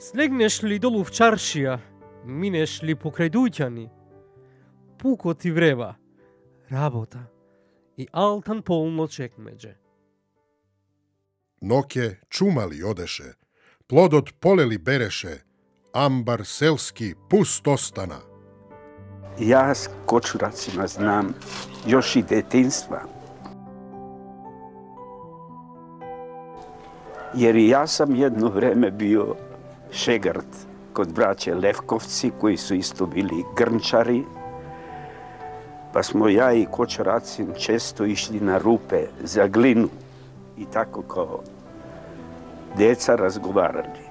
Слегнеш ли долу в чаршија, минеш ли покрај дуќани, пукот ти врева, работа и алтан полно чекмеđe. Ноќе чумали одеше, плодот полели береше, амбар селски пуст остана. Јас кочурацима знам још и детинства. Jer i ja sam jedno vreme bio šegrt kod braće Levkovci, koji su isto bili grnčari, pa smo ja i kočoracin često išli na rupe za glinu i tako kao deca razgovarali.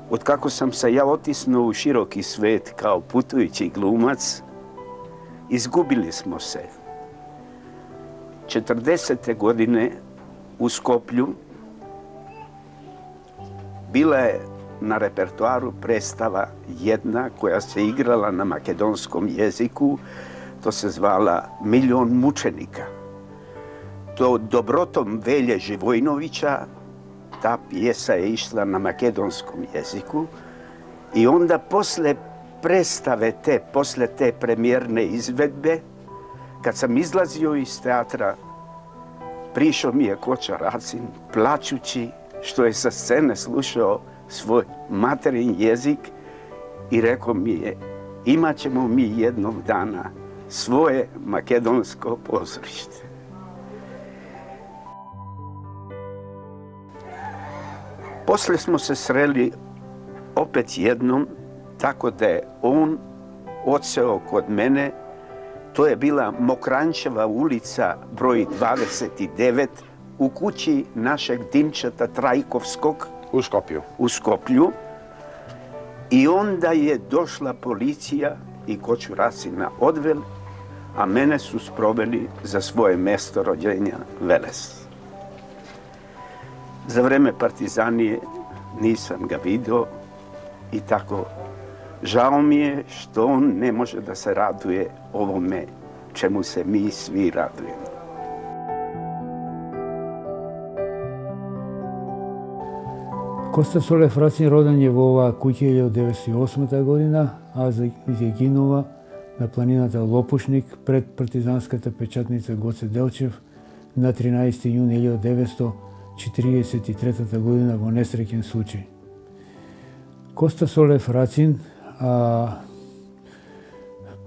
Od kako sam se ja otisnuo u široki svet kao putujući glumac, izgubili smo se. 40. godine u Skoplju bila je na repertoaru predstava jedna koja se igrala na makedonskom jeziku, to se zvala Milion mučenika. To dobrotom Velje Živojnovića, ta pjesa je išla na makedonskom jeziku i onda posle predstave posle te premijerne izvedbe, kad sam izlazio iz teatra, prišao mi je Kočoracin plačući što je sa scene slušao svoj materin jezik i rekao mi je, imat ćemo mi jednog dana svoje makedonsko pozorište. Posle smo se sreli opet jednom, tako da je on odseo kod mene. To je bila Mokrančeva ulica broj 29 u kući našeg Dimčeta Trajkovskog u Skoplju. I onda je došla policija i Kočuracina odveli, a mene su sproveli za svoje mesto rođenja Veles. Za vreme partizanije nisam ga video i tako žao mi je što on ne može da se raduje ovome čemu se mi svi radujemo. Коста Солев Рацин роден е во оваа куќа 1908 година, а загинува на планината Лопушник пред партизанската печатница Гоце Делчев на 13. јуни 1943 година во несреќен случај. Коста Солев Рацин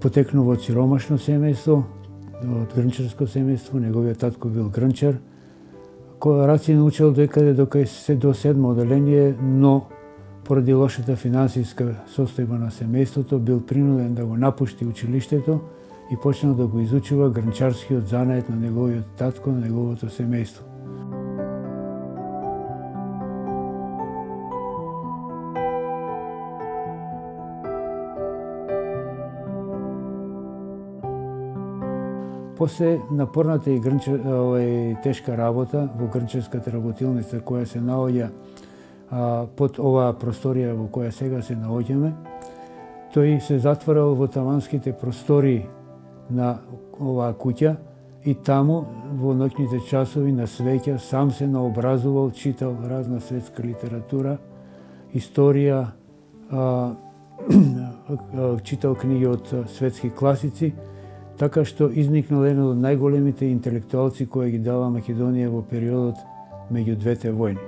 потекнува од сиромашно семејство, од грнчарско семејство, неговиот татко бил грнчар. Рацин учел докаде до 7 оделение, но поради лошата финансиска состојба на семејството бил принуден да го напушти училиштето и почнал да го изучува грнчарскиот занает на неговиот татко, на неговото семејство. После напорната и тешка работа во грнчарската работилница која се наоѓа под оваа просторија во која сега се наоѓаме, тој се затворал во таванските простории на оваа куќа и таму во ноќните часови на свеќа сам се наобразувал, читал разна светска литература, историја, читал книги од светски класици, така што изникнал еден од најголемите интелектуалци кои ги дава Македонија во периодот меѓу двете војни.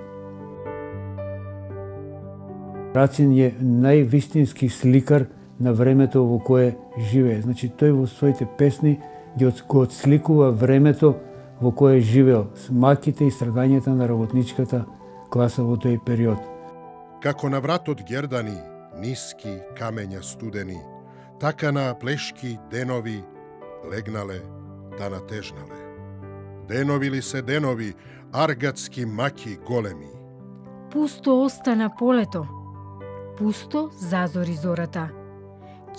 Рацин е највистински сликар на времето во кое живее. Значи, тој во своите песни го отсликува времето во кое живеел, маките и страдањата на работничката класа во тој период. Како на вратот гердани, ниски камења студени, така на плешки денови легнале да натежнале. Денови ли се денови, аргатски маки големи. Пусто остана полето, пусто зазори зората.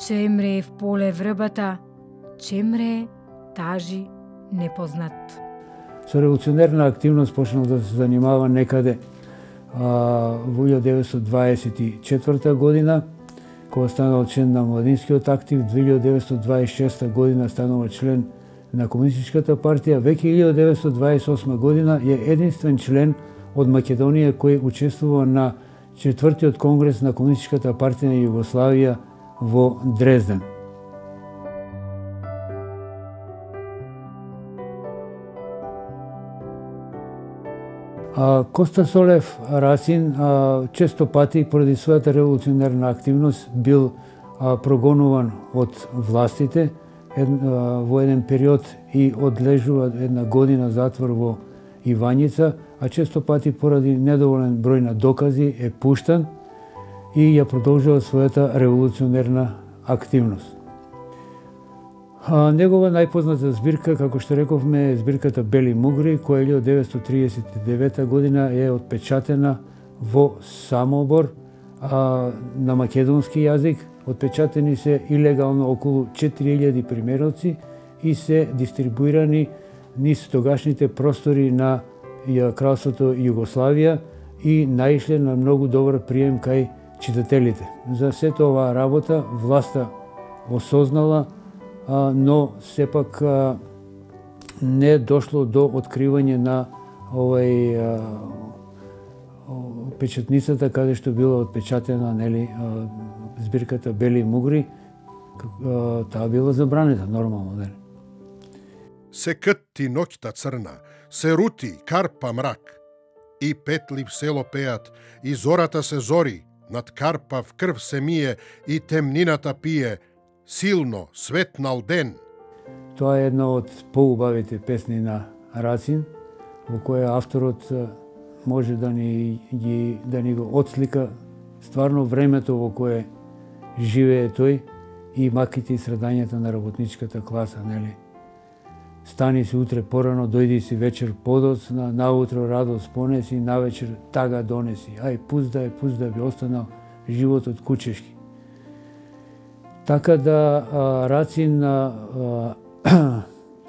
Чемре в поле врбата, чемре тажи непознат. Со револуционерна активност почнал да се занимава некаде во 1924 година, кога станал член на Младинскиот актив, 1926 година станува член на Комунистичката партија, веќе 1928 година е единствен член од Македонија кој учествува на 4-тиот конгрес на Комунистичката партија на Југославија во Дрезден. Коста Солев Рацин често пати поради својата револуционерна активност бил прогонуван од властите во еден период и одлежува една година затвор во Ивањица, а често пати поради недоволен број на докази е пуштан и ја продолжува својата револуционерна активност. Негова најпозната збирка, како што рековме, е збирката Бели мугри, која 1939 година е отпечатена во Самобор на македонски јазик. Отпечатени се илегално околу 4000 примероци и се дистрибуирани низ тогашните простори на кралството Југославија и наишле на многу добар прием кај читателите. За сето оваа работа власта осознала, но сепак не дошло до откривање на печатницата каде што била отпечатена, нели, збирката Бели мугри, таа била забранета нормално, нели. Се кътти ноќта црна, се рути карпа мрак, и петли в село пеат, и зората се зори, над карпа в крв се мие, и темнината пие, силно светнал ден. Тоа е една од поубавите песни на Рацин, во која авторот може да ни го отслика стварно времето во кое живее тој и маките и страдањата на работничката класа, нели? Стани си утре порано, дојди си вечер подоцна, наутро радост понеси, навечер тага донеси. Ај, пуст да би останал животот кучешки. Така да Рацин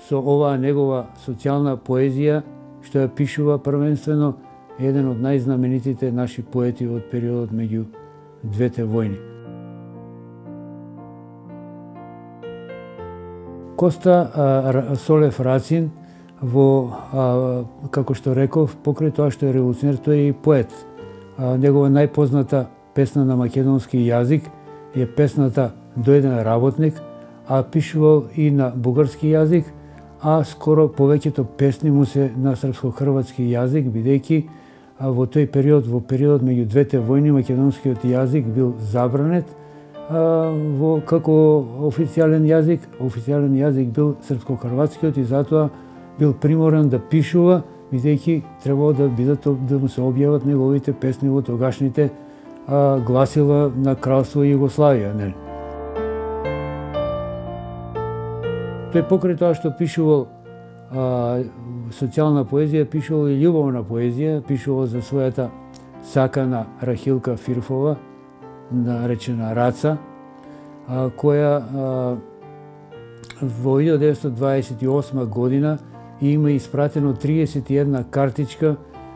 со оваа негова социјална поезија, што ја пишува првенствено, е еден од најзнаменитите наши поети од периодот меѓу двете војни. Коста Солев Рацин како што реков, покрај тоа што е револуционер, тој е и поет. Негова најпозната песна на македонски јазик е песната До еден работник, а пишувал и на бугарски јазик, а скоро повеќето песни му се на српско-хрватски јазик, бидејќи во тој период, во периодот меѓу двете војни, македонскиот јазик бил забранет како официјален јазик. Официјален јазик бил српско-хрватскиот и затоа бил приморен да пишува, бидејќи требало да му се објават неговите песни во тогашните гласила на кралство Југославија, нели? Тој покрај тоа што пишувал социјална поезија, пишувал и љубовна поезија, пишувал за својата сакана Рахилка Фирфова, наречена Раца, која во 1928 година има испратено 31 картичка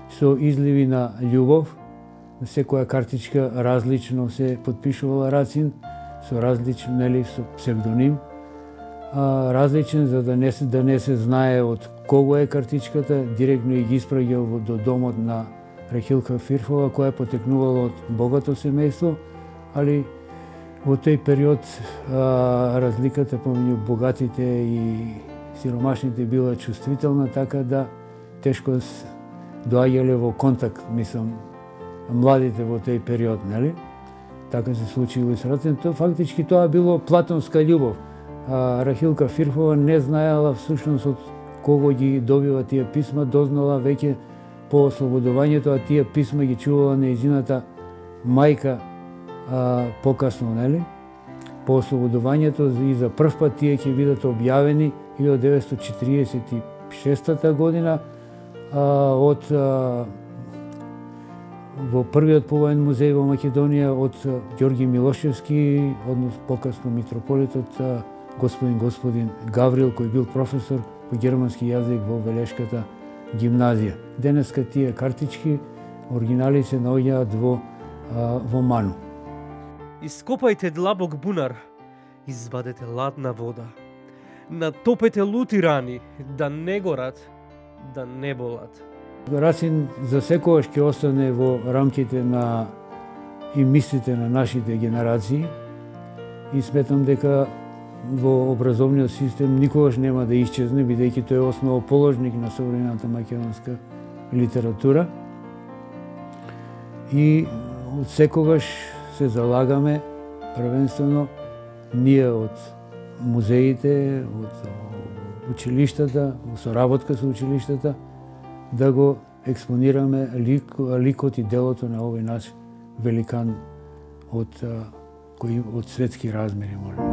со изливи на љубов. Секоја картичка различно се подпишувала Рацин, со различен, нели, со псевдоним, различен за да не се знае од кого е картичката, директно и ги испраќал до домот на Рахилка Фирфова, која потекнувала од богато семејство, али во тој период разликата помеѓу богатите и сиромашните била чувствителна, така да тешко доаѓале во контакт, мислам, младите во тој период, нели? Така се случило и со Рацин. Фактички тоа било платонска љубов. Рахилка Фирфова не знаела всушност од кого ги добива тие писма, дознала веќе по ослободувањето, а тие писма ги чувала нејзината мајка покасно, нели? По ослободувањето и за прв пат тие ќе бидат објавени 1946 година од во првиот повоен музеј во Македонија од Ѓорги Милошевски, однос покасно митрополитот господин Гаврил, кој бил професор по германски јазик во Велешката гимназија. Денеска тие картички, оригинали се наоѓаат во Ману. Ископајте длабок бунар, извадете ладна вода. Натопете лути рани, да не горат, да не болат. Рацин за секогаш ќе остане во рамките на и мислите на нашите генерации и сметам дека во образовниот систем никогаш нема да исчезне, бидејќи тој е основоположник на современата македонска литература. И од секогаш се залагаме првенствено ние од музеите, од училиштата, во соработка со училиштата, да го експонираме ликот и делото на овој наш великан од светски размери, можеме.